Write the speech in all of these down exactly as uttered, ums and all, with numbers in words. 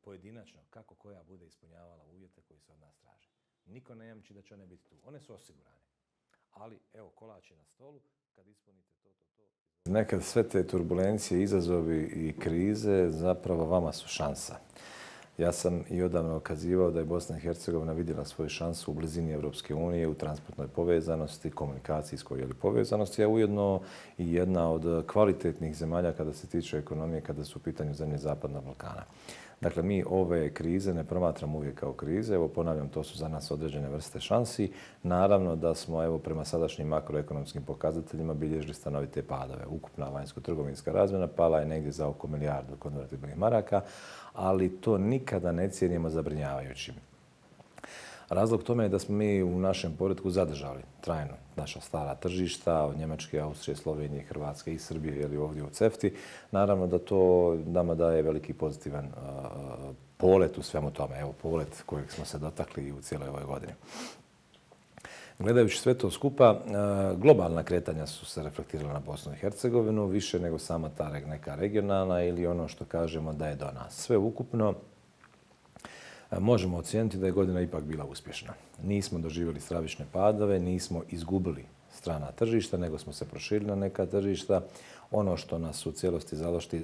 pojedinačno kako koja bude ispunjavala uvjete koji se od nas traže. Niko ne jamči da će one biti tu. One su osigurane. Ali, evo, kolač je na stolu, kad ispunite to, to, to... Nekad sve te turbulencije, izazovi i krize zapravo vama su šansa. Ja sam i odavno ukazivao da je Bosna i Hercegovina vidjela svoju šansu u blizini Europske unije, u transportnoj povezanosti, komunikacijskoj ili povezanosti, a ujedno i jedna od kvalitetnih zemalja kada se tiče ekonomije, kada su u pitanju zemlje Zapadnog Balkana. Dakle, mi ove krize ne promatramo uvijek kao krize. Evo, ponavljam, to su za nas određene vrste šansi. Naravno da smo, evo, prema sadašnjim makroekonomskim pokazateljima bilježili stanovite padove. Ukupna vanjsko-trgovinska razmjena pala je negdje za oko milijardu konvertibilnih maraka, ali to nikada ne cijenimo zabrinjavajućim. Razlog tome je da smo mi u našem poretku zadržali trajno naša stara tržišta, od Njemačke, Austrije, Slovenije, Hrvatske i Srbije ili ovdje u CEFTI. Naravno da to nama daje veliki pozitivan uh, polet u svemu tome. Evo, polet kojeg smo se dotakli i u cijeloj ovoj godini. Gledajući sve to skupa, uh, globalna kretanja su se reflektirala na Bosnu i Hercegovinu, više nego sama ta neka regionalna ili ono što kažemo da je do nas. Sve ukupno možemo ocijeniti da je godina ipak bila uspješna. Nismo doživjeli stravične padove, nismo izgubili strana tržišta, nego smo se proširili na neka tržišta. Ono što nas u cijelosti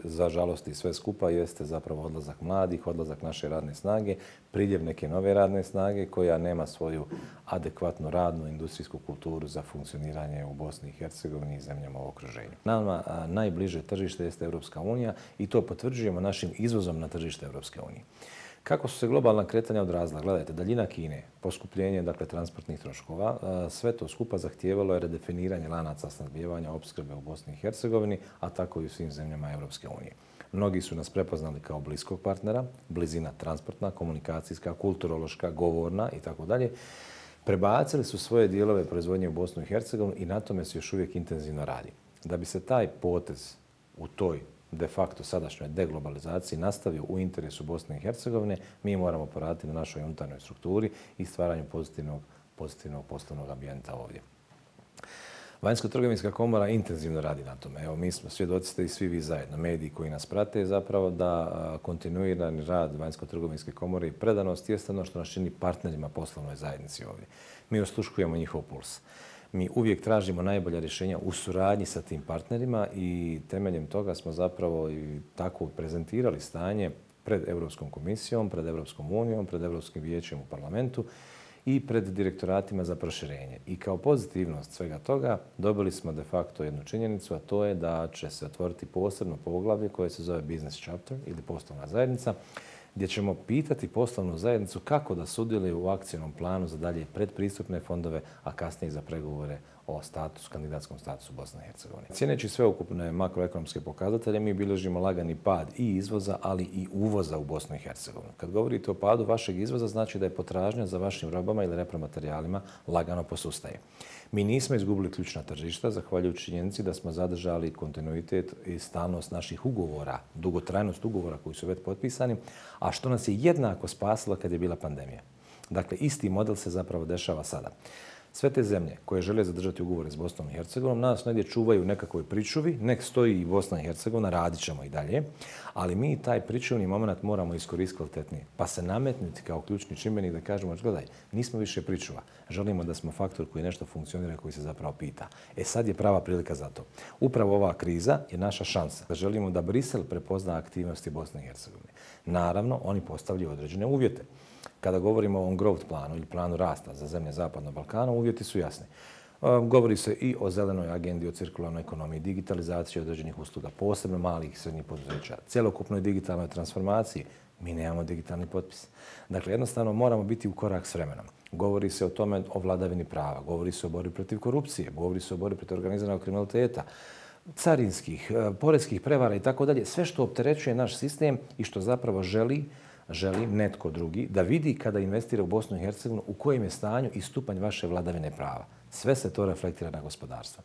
za žalosti sve skupa jeste zapravo odlazak mladih, odlazak naše radne snage, priljev neke nove radne snage koja nema svoju adekvatnu radnu industrijsku kulturu za funkcioniranje u Bosni i Hercegovini i zemljama u okruženju. Nama najbliže tržište jeste Europska unija i to potvrđujemo našim izvozom na tržište Europske unije. Kako su se globalna kretanja odrazila? Gledajte, daljina Kine, poskupljenje dakle, transportnih troškova, sve to skupa zahtijevalo je redefiniranje lanaca snabdijevanja opskrbe u Bosni i Hercegovini, a tako i u svim zemljama Europske unije. Mnogi su nas prepoznali kao bliskog partnera, blizina transportna, komunikacijska, kulturološka, govorna i tako dalje. Prebacili su svoje dijelove proizvodnje u Bosnu i Hercegovinu i na tome se još uvijek intenzivno radi. Da bi se taj potez u toj de facto sadašnjoj deglobalizaciji nastavio u interesu Bosne i Hercegovine, mi moramo poraditi na našoj unutarnjoj strukturi i stvaranju pozitivnog, pozitivnog poslovnog ambijenta ovdje. Vanjsko-trgovinska komora intenzivno radi na tome. Evo, mi smo svjedoci ste i svi vi zajedno, mediji koji nas prate, zapravo da kontinuirani rad Vanjsko-trgovinske komore i predanost jeste ono što nas čini partnerima poslovnoj zajednici ovdje. Mi osluškujemo njihov puls. Mi uvijek tražimo najbolja rješenja u suradnji sa tim partnerima i temeljem toga smo zapravo i tako prezentirali stanje pred Europskom komisijom, pred Europskom unijom, pred Europskim vijećem u parlamentu i pred direktoratima za proširenje. I kao pozitivnost svega toga dobili smo de facto jednu činjenicu, a to je da će se otvoriti posebno poglavlje koje se zove Business Chapter ili poslovna zajednica, gdje ćemo pitati poslovnu zajednicu kako da sudjeluje u akcijnom planu za dalje predpristupne fondove, a kasnije za pregovore o status, kandidatskom statusu Bosne i Hercegovine. Cijeneći sveukupne makroekonomske pokazatelje, mi bilježimo lagani pad i izvoza, ali i uvoza u Bosnu i Hercegovinu. Kad govorite o padu vašeg izvoza, znači da je potražnja za vašim robama ili repromaterijalima lagano posustaje. Mi nismo izgubili ključna tržišta, zahvaljujući činjenici da smo zadržali kontinuitet i stalnost naših ugovora, dugotrajnost ugovora koji su već potpisani, a što nas je jednako spasilo kad je bila pandemija. Dakle, isti model se zapravo dešava sada. Sve te zemlje koje žele zadržati ugovore s Bosnom i Hercegovinom nas negdje čuvaju u nekakvoj pričuvi, nek stoji i Bosna i Hercegovina, radit ćemo i dalje, ali mi taj pričuvni moment moramo iskoristiti kvalitetnije, pa se nametnuti kao ključni čimbenik da kažemo, gledaj, nismo više pričuva, želimo da smo faktor koji nešto funkcionira, koji se zapravo pita. E sad je prava prilika za to. Upravo ova kriza je naša šansa da želimo da Brisel prepozna aktivnosti Bosne i Hercegovine. Naravno, oni postavljaju određene uvjete. Kada govorimo o ovom growth planu ili planu rasta za zemlje Zapadnog Balkana, uvjeti su jasni. Govori se i o zelenoj agendi, o cirkularnoj ekonomiji, digitalizaciji određenih usluga, posebno malih i srednjih poduzeća, cjelokupnoj digitalnoj transformaciji. Mi nemamo digitalni potpis. Dakle, jednostavno moramo biti u korak s vremenom. Govori se o tome o vladavini prava, govori se o borbi protiv korupcije, govori se o borbi protiv organiziranog kriminaliteta, carinskih, poreskih prevara i tako dalje. Sve što opterećuje naš sistem i što zapravo želi želi netko drugi da vidi kada investira u Bosnu i Hercegovinu u kojem je stanju i stupanj vaše vladavine prava. Sve se to reflektira na gospodarstvo.